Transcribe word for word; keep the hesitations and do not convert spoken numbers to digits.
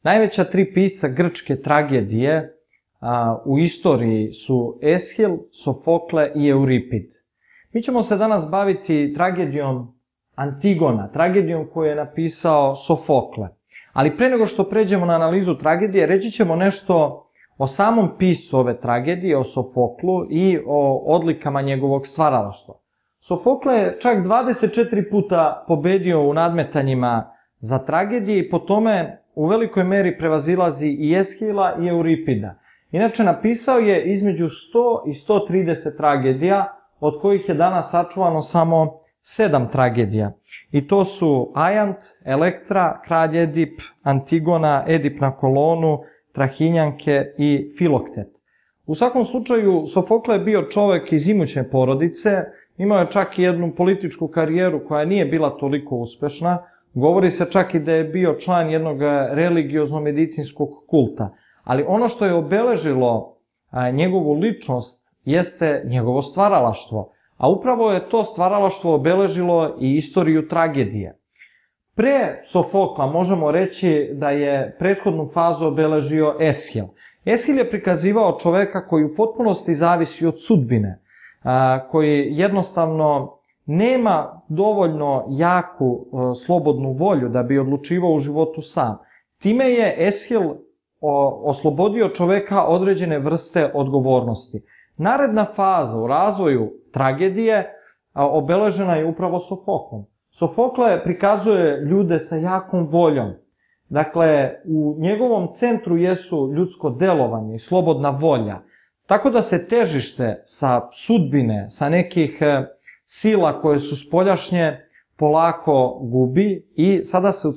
Najveća tri pisca grčke tragedije a, u istoriji su Eshil, Sofokle i Euripid. Mi ćemo se danas baviti tragedijom Antigona, tragedijom koju je napisao Sofokle. Ali pre nego što pređemo na analizu tragedije, reći ćemo nešto o samom piscu ove tragedije, o Sofoklu i o odlikama njegovog stvaralaštva. Sofokle je čak dvadeset četiri puta pobedio u nadmetanjima za tragedije i po tome u velikoj meri prevazilazi i Eshila i Euripida. Inače, napisao je između sto i sto trideset tragedija, od kojih je danas sačuvano samo sedam tragedija. I to su Ajant, Elektra, Kralj Edip, Antigona, Edip na Kolonu, Trahinjanke i Filoktet. U svakom slučaju, Sofokle je bio čovek iz imućne porodice, imao je čak i jednu političku karijeru koja nije bila toliko uspešna. Govori se čak i da je bio član jednog religiozno-medicinskog kulta. Ali ono što je obeležilo njegovu ličnost jeste njegovo stvaralaštvo. A upravo je to stvaralaštvo obeležilo i istoriju tragedije. Pre Sofokla možemo reći da je prethodnu fazu obeležio Eshil. Eshil je prikazivao čoveka koji u potpunosti zavisi od sudbine, koji jednostavno nema dovoljno jaku slobodnu volju da bi odlučivao u životu sam. Time je Eshil oslobodio čoveka određene vrste odgovornosti. Naredna faza u razvoju tragedije obeležena je upravo Sofoklom. Sofokle prikazuje ljude sa jakom voljom. Dakle, u njegovom centru jesu ljudsko delovanje i slobodna volja. Tako da se težište sa sudbine, sa nekih sila koje su spoljašnje, polako gubi i sada se